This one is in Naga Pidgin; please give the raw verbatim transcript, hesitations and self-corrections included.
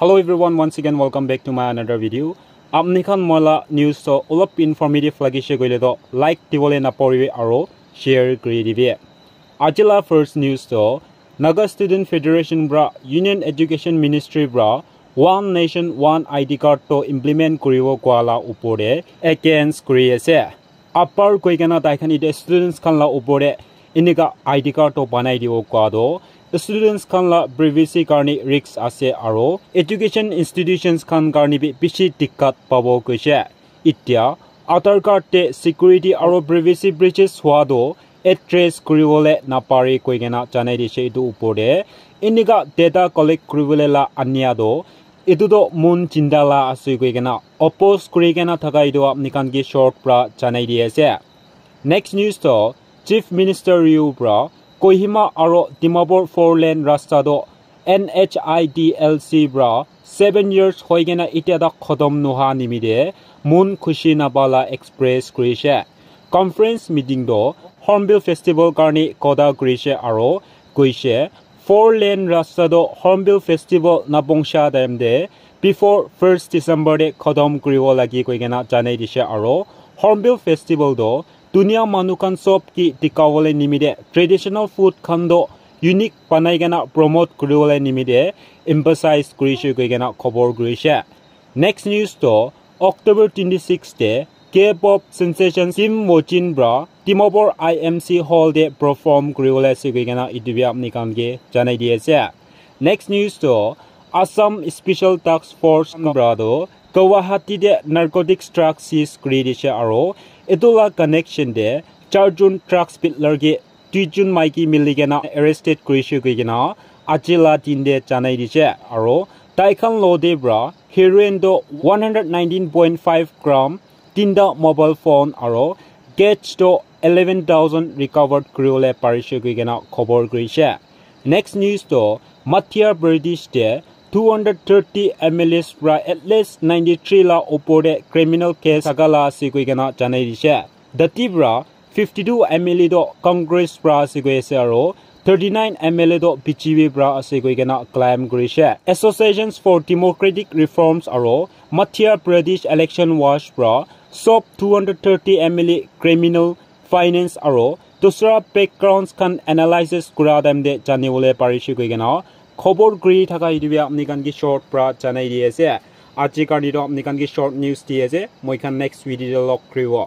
Hello everyone, once again welcome back to my another video. Apni khan moi la news to olop informative lagise koile to like dibole naporibi aro share kuri dibi. Aji la first news to Naga Student Federation pra Union Education Ministry pra One Nation One I D Card to implement kuribo koa la upor te against kuri ase. Upper koi kena tai khan ite students khan la upor te inika I D card to banai dibo koa to students khan la privacy karne risk ase aro education institutions khan karne bi bishi dikkat pabo koise. Itya Aadhaar card te security aro privacy breaches hua to address kuribole napare koi kena janai dise etu upor te. Inika data collect kuribole la ania to etu to mon chinta la ase koi kena oppose kuri kena thaka etu apni khan ke short pra janai di ase. Next news to Chief Minister Ryu pra Kohima aro Dimapur four lane rasta to N H I D L C pra seven years hoi kena itya tak khotom noha nimite mon khushi napa la express kurise. Conference meeting to Hornbill Festival karni koda kurise aro koise four lane rasta to Hornbill Festival napongsha time te before first December te khotom kuribo lagi koi kena janai dise aro Hornbill Festival to dunia manu khan sob ki dikawole nimite traditional food khan to unique banai kena promote kuriwole nimite emphasize kurise koi kena khobor kurise. Next news to October twenty-six te K-pop sensation Kim Wojin pra Dimapur I M C hall te perform kuriwole ase koi kena etu bi apni khan ke janai di ase. Next news to Assam Special Task Force pra to Guwahati te narcotics truck seize kuri dise aro etu la connection te charjon truck peddler ke duijon maiki mili kena arrested kurise koi kena aji la din te janai dise aro tai khan lo te pra heroin to one hundred nineteen point five gram, tinta mobile phone aro cash to eleven thousand recovered kuriwole parise koi kena khobor kurise. Next news to Madhya Pradesh te two hundred thirty M L As pra at least ninety-three la upor te criminal case thaka la ase koi kena janai dise. Dati pra fifty-two M L A to Congress pra ase koi ase aro thirty-nine M L A to B J P pra ase koi kena claim kurise. Associations for Democratic Reforms aro Madhya Pradesh Election Watch pra sob two hundred thirty M L A criminal, finance aro dusra backgrounds khan analysis kura time te janibole parise koi kena khobor kuri thaka etu bi apni khan ke short pra janai di ase. Aji karni to apni khan ke short news di ase. Moi khan next video te log kuribo.